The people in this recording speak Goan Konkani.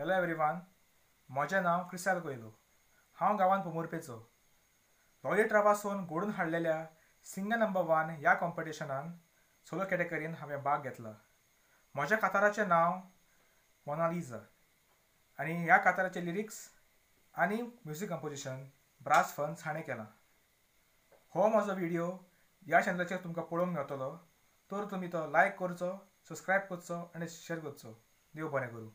हॅलो एवरीवन, म्हजें नांव क्रिसाल कोयलो. हांव गांवान पोमुर्पेचो. लॉली ट्रावासून घडून हाडलेल्या सिंगर नंबर 1 ह्या कॉम्पिटिशनान सोलो कॅटेगरीन हांवें भाग घेतला. म्हज्या काताराचें नांव मोनालिझा आनी ह्या काताराचे लिरिक्स आनी म्युजीक कंपोजिशन ब्रास फन्स हाणें केलां. हो म्हजो व्हिडियो ह्या चॅनलाचेर तुमकां पळोवंक मेळटलो, तर तुमी तो लायक करचो, सबस्क्रायब करचो आनी शेअर करचो. देव बरें करूं.